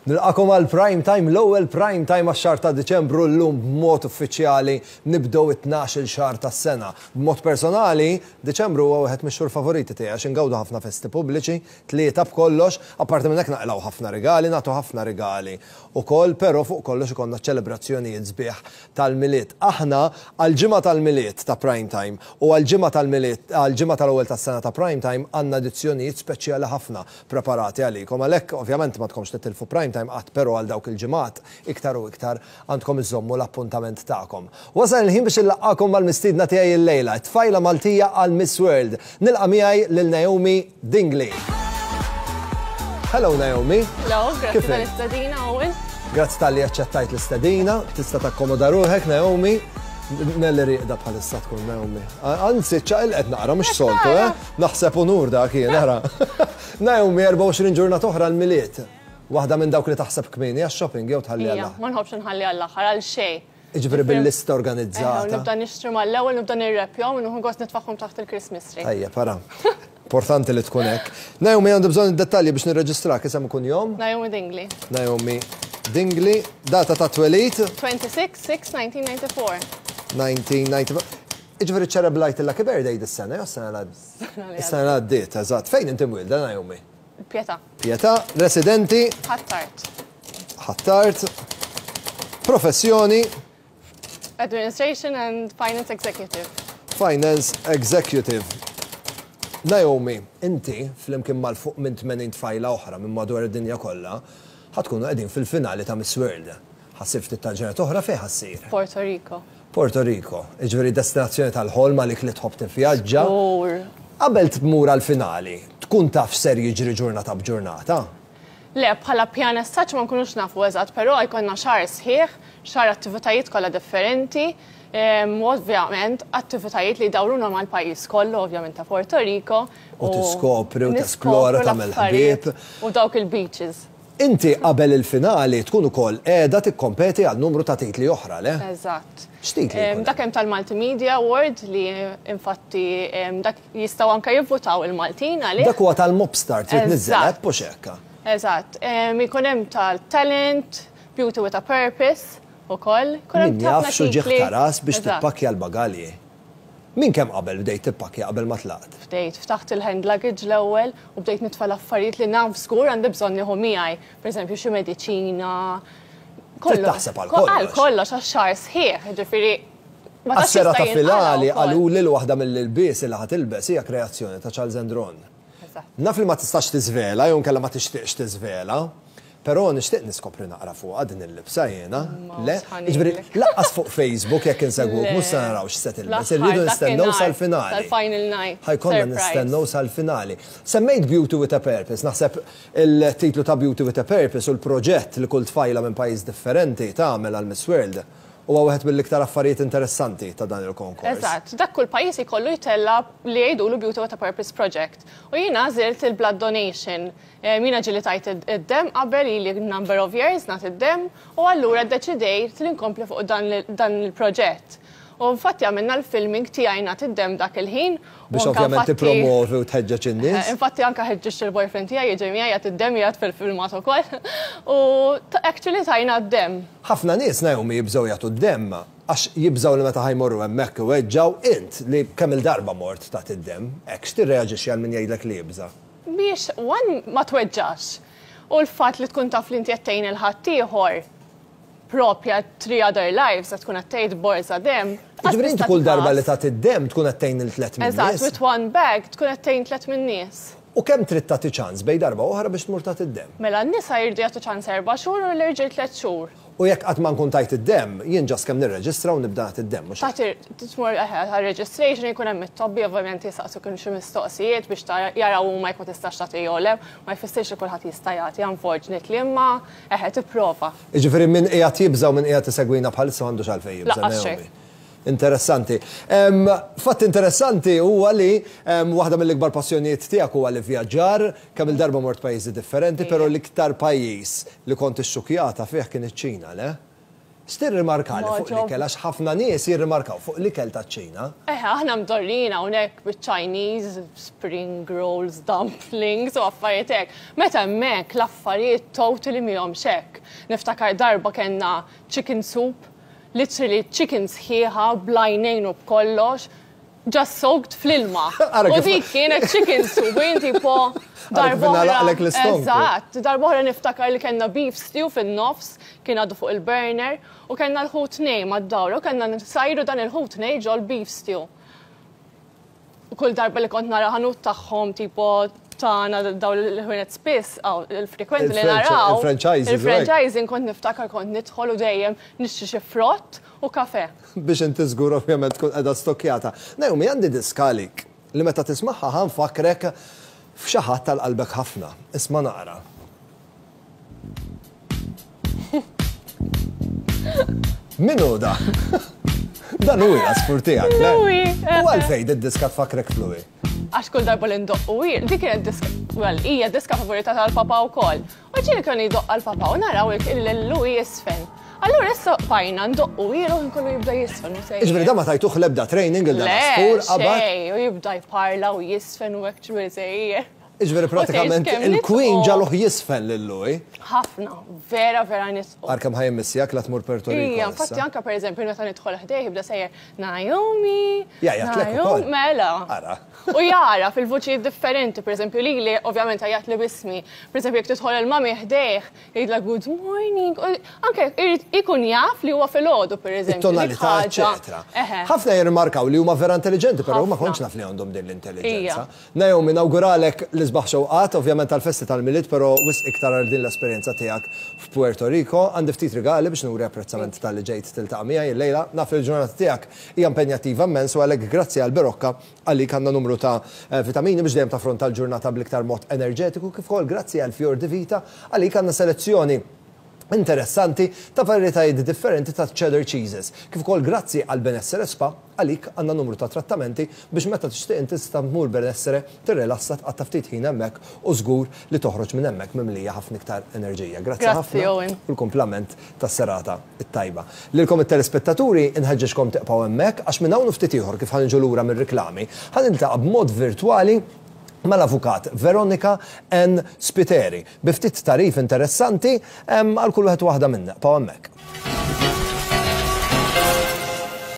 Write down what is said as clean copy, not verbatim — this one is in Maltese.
Nilqagħkom għal Prime Time, l-ewwel Prime Time għax-xahar ta' Diċembru llum b'mod uffiċjali nibdew it-tnax-il xahar tas-sena. B'mod personali, Diċembru huwa wieħed mix-xhur favoriti tiegħi għax ingawdu ħafna festi pubbliċi, tlieta b'kollox, apparti minn hekk naqilgħu ħafna rigali, nagħtu ħafna rigali ukoll, però fuq kollox ikollna ċelebrazzjonijiet sbieħ tal-Milied. Aħna għall-ġimgħa tal-Milied ta' Prime Time u għall-ġimgħa tal-Milied, għall-ġimgħa tal-ewwel tas-sena ta' Prime Time għandna edizzjonijiet speċjali ħafna preparati għalikom. Għalhekk, ovvjament ma tkomx titilfu Prime Time qatt, però għal dawk il-ġimgħat iktar u iktar għandkom iżommu l-appuntament tagħkom. Wasal il-ħin biex inlaqqagħkom mal-mistiedna tiegħi illejla, it-tfajla Maltija għal Miss World. Nilqa' miegħi lil Naomi Dingli. Hello, Naomi. Hello, grazzi tal-istedina, Owen. Grazzi talli aċċettajt l-istedina, tista' takkomoda ruħek, Naomi. Nelli rieqda bħalissa tkun, Naomi. Anzi, ċaqilqet naqra, mhux soltu, eh? Naħseb unur dak jien, ara. Naomi, 24 ġurnata oħra l-Milied. Waħda minn dawk li taħseb kmieni għax-shopping jew tħalli għall Ma nħobbx nħalli għall-aħħar għal xejn. Ġifieri bil-lista organizzata. Nibda nixtri mal-ewwel, nibda nirrepjahom, u nieħu gost nitfagħhom taħt il-Christmas tree. Ejja, para. Importanti li tkun hekk. Naomi, għandi bżonn id-dettalji biex nirreġistrak. Isem, kunjom? Naomi Dingli. Naomi Dingli. Data ta' twelid? 26-6-1994. 1994. Ġifieri ċelebrajt il-lucky birthday dis-sena, jew s-sena l Is-sena l-għaddiet, eżatt. Fejn inti mwilda, Naomi? Pietà. Pietà, residenti? Ħ'Attard. Ħ'Attard. Professjoni? Administration and Finance Executive. Finance Executive. Naomi, inti, flimkien mal fuq minn 80 tfajla oħra minn madwar id-dinja kollha, ħa tkunu qegħdin fil-finali ta' Miss World. Ħa ssir ftit tal-ġranet oħra. Fejn ħa ssir? Puerto Rico. Puerto Rico, ġifieri destinazzjoni tal-ħolm għalik li tħobb tivvjaġġa. Qabel tmur għal-finali, tkun taf ser jiġri ġurnata b'ġurnata? Le, bħala pjan as such ma nkunux nafu eżatt, però jkollna xahar sħiħ, xahar attivitajiet kollha differenti, u ovvjament attivitajiet li jdawruna mal-pajjiż kollu, ovvjament ta' Puerto Rico. U tiskopri u tesplora, tagħmel ħbieb. U dawk il-beaches. Inti qabel il-finali tkun ukoll qiegħda tikkompeti għal numru ta' titli oħra, le? Eżatt. X'titli? Dak hemm tal-Multimedia Award li infatti dak jistgħu anke jivvutaw il-Maltin għalih. Dak huwa tal-Mobstar, trid tniżżel app u x'hekk. Eżatt. Ikun hemm tal-Talent, Beauty with a Purpose ukoll. Min jaf x'uġigħ ta' ras biex tippakkja l-bagalji. Min kemm qabel bdejt tippakkja qabel ma tlaqt? Bdejt, ftaħt il-hand luggage l-ewwel u bdejt nitfa' l-affarijiet li naf żgur għandi bżonn nieħu miegħi. Pereżempju xi mediċina. Trid taħseb għal kollox. Għal kollox, għax-xahar sħiħ, ġifieri. Għas-serata finali qaluli li waħda mill-ilbies li ħa tilbes hija kreazzjoni ta' Charles Endron. Naf li ma tistax tiżvela jew inkella ma tixtieqx tiżvela, però nixtieq niskopri naqra fuqha din il-libsa jiena. Le, ġifieri lanqas fuq Facebook jekk insegwuk mhux se naraw x'se tilbes, irridu nistennew sal-finali. Sal-final night. Ħa jkollna nistennew sal-finali. Semmejt Beauty with a Purpose, naħseb il-titlu ta' Beauty with a Purpose u l-proġett li kull tfajla minn pajjiż differenti tagħmel għal Miss World huwa wieħed mill-iktar affarijiet interessanti ta' dan il-konkors. Eżatt, dak kull pajjiż ikollu jtella' li jgħidulu Beauty with a Purpose Project. U jiena għażilt il-blood donation. Jiena ġieli tajt id-dem qabel, ili number of years nagħti id-dem, u allura ddeċidejt li nkompli fuq dan il-proġett. U infatti għamilna l-filming tiegħi nagħti id-dem dak il-ħin. Biex ovvjament tippromovi u tħeġġeġ in-nies. Infatti anka ħeġġeġt il-boyfriend tiegħi jiġi miegħi jagħti id-dem, jgħid fil-filmat ukoll. U actually tajna d-dem. Ħafna nies, Naomi, jibżgħu jagħtu d-dem għax jibżgħu li meta ħa jmorru hemmhekk iweġġgħu. Int li kemm il-darba mort tagħti d-dem, hekk x'tirreaġixxi għal min jgħidlek li jibża'? Biex one ma tweġġax. U l-fatt li tkun taf li inti qed tgħin il-ħaddieħor propja three other lives, qed tkun qed tgħid borża dem. Ġifieri inti kull darba li tagħti d-dem tkun qed tgħin il tliet min Eżatt, with one bag tkun qed tgħin tliet min nies. U kemm trid tagħti ċans bejn darba oħra biex tmur tagħti d-dem? Mela n-nisa jridu jagħtu ċans 4 xhur u l-irġiel 3 xhur. U jekk qatt ma nkun tajt id-dem, jien just kemm nirreġistra u nibda nagħti d-dem, mhux hekk? Tagħti, tmur għal registration, jkun hemm it-tobbi, ovvjament jistaqsu kien xi mistoqsijiet biex jaraw huma jekk ma tistax tagħti jew le, ma jfissirx li kulħadd jista' jagħti, unfortunately, imma eħe tipprova. Jiġifieri min qiegħed jibża' u min qiegħed isegwina bħalissa m'għandux għalfejn jibża', Lanqas xejn. Naomi. Interessanti. Fatt interessanti huwa li waħda mill-ikbar passjonijiet tiegħek huwa li vjaġġar, kemm il-darba mort pajjiżi differenti, però l-iktar pajjiż li kont ixxukjata fih kien iċ-Ċina, le? X'tirrimarkali fuq l-ikel għax ħafna nies jirrimarkaw fuq l-ikel taċ-Ċina. Eħe, aħna mdorrijin hawnhekk biċ-Chinese, spring rolls, dumplings u affarijiet hekk. Meta hemmhekk l-affarijiet totally mihomx hekk. Niftakar darba kellna chicken soup, literally chicken sħiħa bl-għajnejn u b'kollox, just soaked fl-ilma. U dik kienet chicken soup, u jien tipo darb'oħra. Eżatt, darb'oħra niftakar li kellna beef stew fin-nofs, kien għadu fuq il-burner, u kellna l-ħut nej mad-dawra, u kellna nsajru dan il-ħut nej ġol-beef stew. U kull darba li kont nara ħanut tagħhom tipo tagħna dawn il-ħwienet spiss, il-frekwenti li naraw. Il-franchising. Il-franchising kont niftakar kont nidħol u dejjem nixtri xi frott u kafè. Biex inti żgur ovvjament tkun qiegħda stokkjata. Naomi għandi diska għalik li meta tismagħha ħa nfakkrek f'xi ħadd għal qalbek ħafna. Isma' naqra. Min hu dan? Dan hu l-għasfur tiegħek, le? Louis. U għalfejn did-diska tfakkrek f'Louis? Għax kull darba li ndoqqu, dik kienet diska, well, hija diska favorita tal-papa wkoll. U ġieli kien jdoqq għall-papa u naraw lil Louis jiżfen. Allura issa bqajna ndoqqu ilu ħin kollu jibda jiżfen u sejjer. Jiġifieri dan ma tajtuh l-ebda training lil dan l-għasfur qabad? Le, xejn, u jibda jparla u jiżfen u hekk ċwil sejjer. Jiġifieri pratikament il-Queen ġagħluh jiżfen lil Louis. Ħafna, vera vera nisqu. Ara kemm ħa jimmissjak la tmur Puerto Rico. Ija, infatti anke pereżempju meta nidħol ħdejh jibda sejjer Naomi. Jgħajjatlek ukoll. Mela. Ara. U jagħraf il-vuċijiet differenti, pereżempju lili ovvjament għajjatli b'ismi. Pereżempju jekk tidħol il-mami ħdejh, jgħidlha good morning, u anke jrid ikun jaf li huwa filgħodu pereżempju. It-tonalità, eċċetera. Ħafna jirrimarkaw li huma vera intelliġenti, però ma kontx naf li għandhom din l-intelliġenza. Naomi, nawguralek l-isbaħ xewqat, ovvjament għall-festi tal-Milied, però wisq iktar għal din l-esperjenza tiegħek f'Puerto Rico. Għandi ftit rigali biex nuri apprezzament talli ġejt tiltaqa' miegħi illejla. Naf li l-ġurnata tiegħek hija impenjattiva immens u għalhekk grazzi għal Berocca Għalik għandna numru ta' vitamini biex dejjem taffronta l-ġurnata bl-iktar mod enerġetiku kif ukoll grazzi għal Fior di Vita għalik għandna selezzjoni interessanti ta' varjetajiet differenti ta' cheddar cheeses kif ukoll grazzi għal Benessere Spa għalik għandna numru ta' trattamenti biex meta tixtieq inti tista' tmur Benessere tirrilassa tqatta' ftit ħin hemmhekk u żgur li toħroġ minn hemmhekk mimlija ħafna iktar enerġija. Grazzi ħafna u l-kumplament tas-serata. It-tajba. Lilkom it-telespettaturi inħeġġeġkom tiqpgħu hemmhekk għax minn hawn u ftit ieħor kif ħa niġu lura mir-riklami, ħa niltaqa' b'mod virtwali mal-Avukat Veronica Ann Spiteri bi ftit tagħrif interessanti għal kull wieħed u waħda minna. Ibqgħu hemmhekk.